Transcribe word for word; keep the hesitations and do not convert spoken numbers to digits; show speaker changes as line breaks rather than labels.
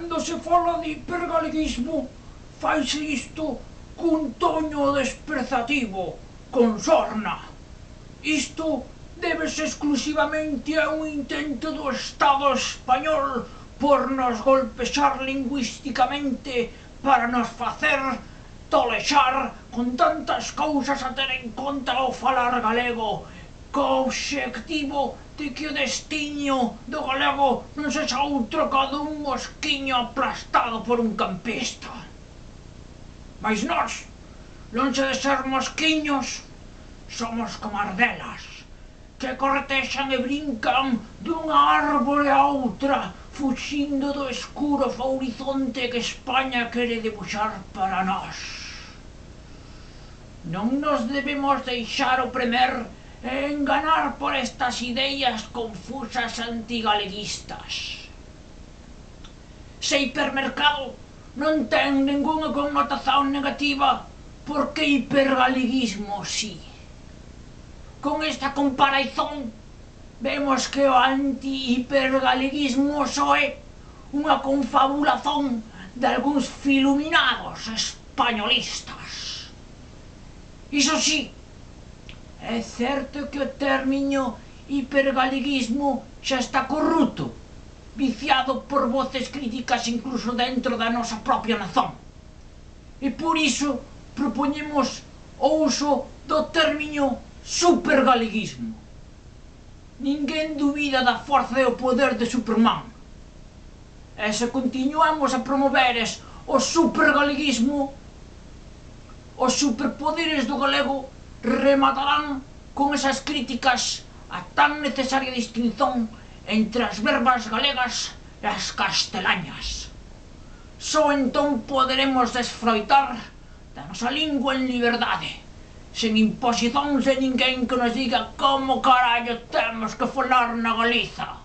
Cando se fala de hipergaleguismo, faise isto cun toño desprezativo, con sorna. Isto débese exclusivamente a un intento do Estado español por nos golpexar lingüísticamente para nos facer tolexar con tantas cousas a ter en conta ao falar galego, co obxectivo de que o destiño do galego non sexa outro ca dun mosquiño aplastado por un campista. Mais nós, lonxe de ser mosquiños, somos como as delas, que cortexan e brincan dunha árbore a outra, fuxindo do escuro horizonte que España quere debuxar para nós. Non nos debemos deixar opremer e enganar por estas ideas confusas antigaleguistas. Se hipermercado non ten ningunha connotación negativa, por que hipergaleguismo si? Con esta comparación vemos que o anti-hipergaleguismo só é unha confabulación de algúns filuminados españolistas. Iso si, é certo que o término hipergaleguismo xa está corrupto, viciado por voces críticas incluso dentro da nosa propia nazón. E por iso propoñemos o uso do término supergaleguismo. Ninguén dubida da forza e o poder de Superman. E se continuamos a promoveres o supergaleguismo, os superpoderes do galego rematarán con esas críticas a tan necesaria distinción entre as verbas galegas e as castelañas. Só entón poderemos desfroitar da nosa lingua en liberdade, sen imposicións de ninguén que nos diga como carallo temos que falar na Galiza.